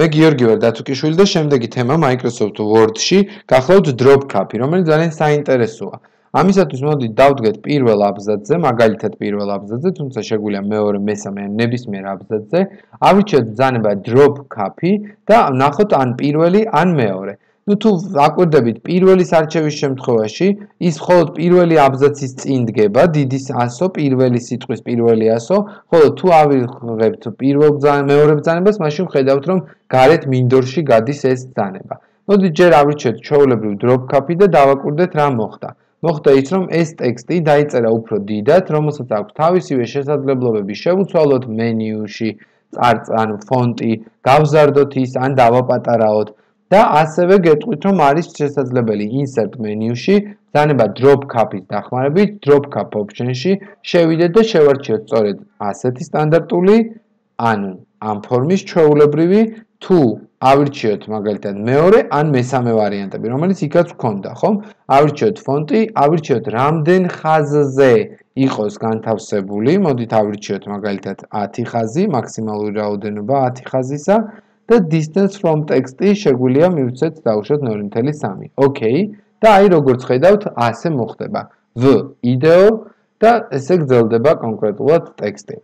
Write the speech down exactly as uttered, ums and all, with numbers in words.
მე გიორგი ვარ დათუკიშვილი და შემდეგი თემა Microsoft Word-ში გახლავთ drop cap-ი, რომელიც ძალიან საინტერესოა. ამისათვის მოდით დავდგეთ პირველ აბზაცზე, მაგალითად პირველ აბზაცზე, თუმცა შეგვიძლია მეორე, მესამე ან ნებისმიერ აბზაცზე. ავირჩიოთ ბრძანება drop cap-ი და ნახოთ ან პირველი, ან მეორე. ნუ თუ აკვირდებით პირველის არჩევის შემთხვევაში, ის მხოლოდ პირველი აბზაცის წინ დგება, დიდის ასო, პირველი სიტყვის პირველი ასო, ხოლო თუ ავიღებთ პირველ მეორე ბრძანებას, მაშინ ვხედავთ, რომ გარეთ მინდორში გადის ეს ბრძანება. მოდით ჯერ ავირჩიოთ ჩვეულებრივ drop cap-ი და დავაკვირდეთ რა მოხდა. მოხდა ის, რომ ეს ტექსტი დაიწერა უფრო დიდად, რომელსაც აქვს თავისივე შესაძლებლობები შევუცვალოთ მენიუში, წარწან, ფონტი, გავზარდოთ ის ან დავაპატარაოთ. და ასევე გეტყვით, რომ არის შესაძლებელი insert menu-ში, ბრძანება drop cap-ის დახმარებით, drop cap option-ში შევიდეთ და შევარჩიოთ სწორედ ასეთი სტანდარტული, ანუ ამ ფორმის ჩვეულებრივი, თუ ავირჩიოთ მაგალითად მეორე ან მესამე ვარიანტები, რომელიც იქაც გვქონდა, ხომ? ავირჩიოთ ფონტი, ავირჩიოთ რამდენ ხაზზე იყოს განთავსებული, მოდით ავირჩიოთ მაგალითად ათი ხაზი, მაქსიმალური რაოდენობა ათი ხაზისა. და distance from text-ი შეგვიძლია მივცეთ დავუშვათ ნული ნული სამი. ოკეი. და აი როგორც ხედავთ, ასე მოხდება. V იდეო და ესე გრძელდება კონკრეტულად ტექსტი.